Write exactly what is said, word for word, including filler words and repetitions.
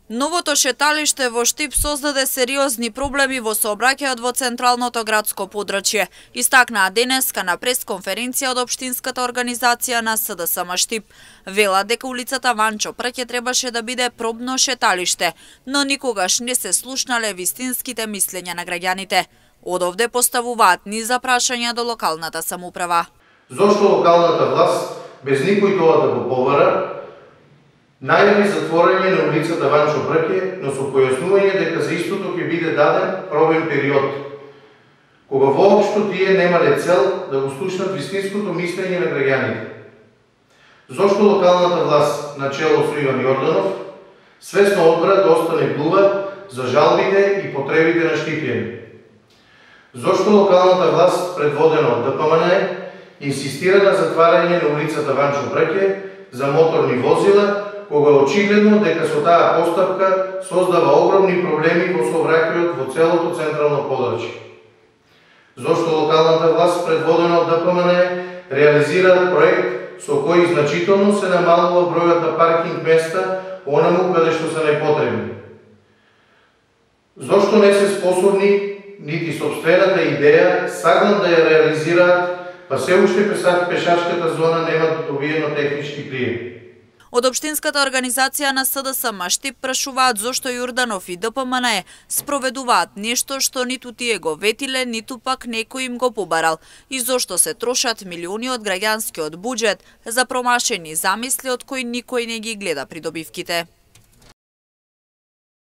Новото шеталиште во Штип создаде сериозни проблеми во сообраќајот во централното градско подрачје, истакнаа денеска на пресконференција од општинската организација на С Д С М Штип. Вела дека улицата Ванчо Прке требаше да биде пробно шеталиште, но никогаш не се слушнале вистинските мислења на граѓаните. Од овде поставуваат низ прашања до локалната самоуправа. Зошто локалната власт без никој тоа да го побара најави затворање на улицата Ванчо Прке, но со појаснување дека за истото ќе биде даден пробен период, кога воопшто тие немале цел да го слушнат вистинското мислење на граѓаните. Зошто локалната власт на чело со Иван Јорданов свесно одбра да остане глува за жалбите и потребите на штипјани? Зошто локалната власт предводена од Д П М Н Е инсистира на затварање на улицата Ванчо Прке за моторни возила, кога очигледно дека со таа постапка создава огромни проблеми во сообраќајот во целото централно подрачје? Зошто локалната власт предводена од Д П М Н Е реализира проект со кој значително се намалува бројот на паркинг места онаму каде што се најпотребни? Зошто не се способни нити сопствената идеја саглам да ја реализираат, па се уште пешачката зона нема добиено технички прием? Од општинската организација на С Д С М Штип прашуваат зошто Јорданов и Д П М Н Е спроведуваат нешто што ниту тие го ветиле, ниту пак некој им го побарал, и зошто се трошат милиони од граѓанскиот буџет за промашени замисли од кои никој не ги гледа придобивките.